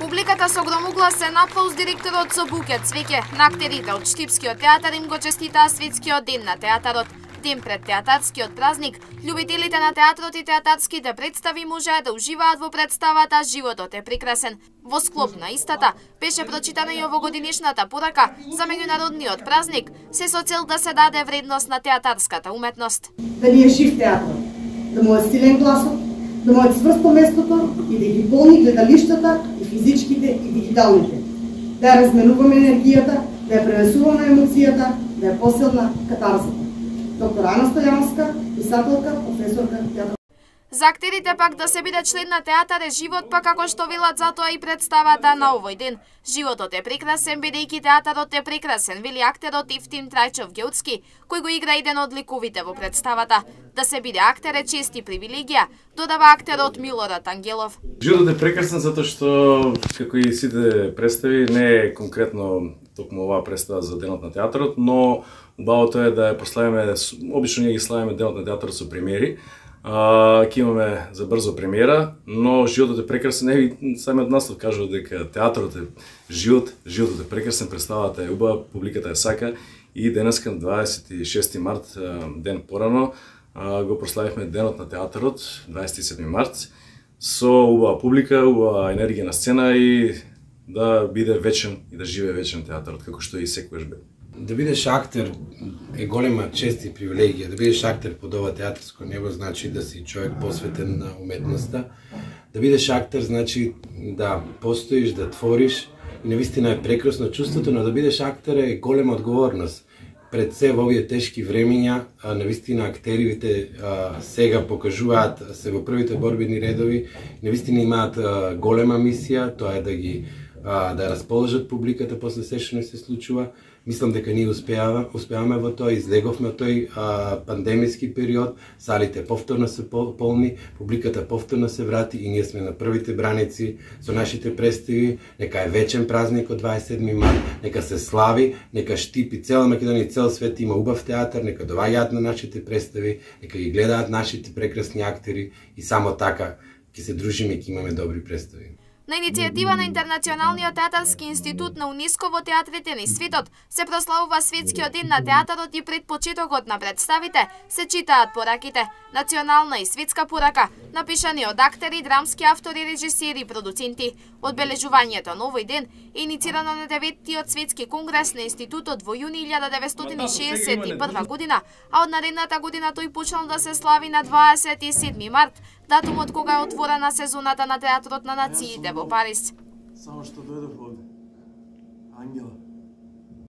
Публиката со громоглас се напла уз директорот со буке цвеќе. На актерите од Штипскиот театар им го честитаа светскиот ден на театарот. Ден пред театарскиот празник, љубителите на театрот и театарските представи можеа да уживаат во представата "Животот е прекрасен". Во склоп на истата беше прочитана и овогодинешната порака за меѓународниот празник, се со цел да се даде вредност на театарската уметност. Да ни е жив театар, да му е силен гласот, да му е цврсто местото и да ги полни гледалиштата и физичките и дигиталните. Да ја разменуваме енергијата, да ја пренесуваме емоцијата, да ја посилна катарзата. Доктор Ана Стојановска, писателка, професорка театар. За актерите пак да се биде член на театар е живот, па како што велат затоа и представата на овој ден. Животот е прекрасен, бидејќи театарот е прекрасен, вели актерот Ивтим Трајчов Геуцки, кој го игра еден од ликовите во представата. Да се биде актер е чест и привилегија, додава актерот Милорад Ангелов. Животот е прекрасен затоа што, како и сите представи, не е конкретно токму оваа представа за денот на театарот, но убавото е да ја прославиме, обично ние ги славиме денот на театарот со премиери. Ќе имаме за брзо премиера, но животот е прекрасен. И самиот наслов кажува дека театарот е живот, животот е прекрасен, представата е убава, публиката е сака и денеска 26 март, ден порано, го прославивме денот на театарот, 27 март, со убава публика, убава енергија на сцена и да биде вечен и да живее вечен театарот, како што и секогаш бе. Да бидеш актер е голема чест и привилегија. Да бидеш актер под ова театарско небо значи да си човек посветен на уметноста. Да бидеш актер значи да постоиш, да твориш и навистина е прекрасно чувството, но да бидеш актер е голема одговорност. Пред се во овие тешки времиња, навистина актерите сега покажуваат се во првите борбени редови, навистина имаат голема мисија, тоа е да расположат публиката после се што не се случува. Мислам дека ние успеаваме во тоа, излеговме од тој пандемиски период, салите повторно се полни, публиката повторно се врати и ние сме на првите браници со нашите представи. Нека е вечен празник од 27 март, нека се слави, нека Штип и цела Македонија и цел свет има убав театар, нека доаѓаат на нашите представи, нека ги гледаат нашите прекрасни актери и само така ќе се дружиме и ќе имаме добри представи. На иницијатива на Интернационалниот театарски институт на УНЕСКО во театрите низ светот се прославува светскиот ден на театарот и пред почетокот на представите се читаат пораките. Национална и светска порака, напишани од актери, драмски автори, режисери и продуценти. Одбележувањето на овој ден е иницирано на 9-тиот светски конгрес на институтот во јуни 1961 година, а од наредната година тој почнал да се слави на 27 март, датумот кога е отворена сезоната на театрот на нациите во Париз. Само што дојдов овде, Ангела.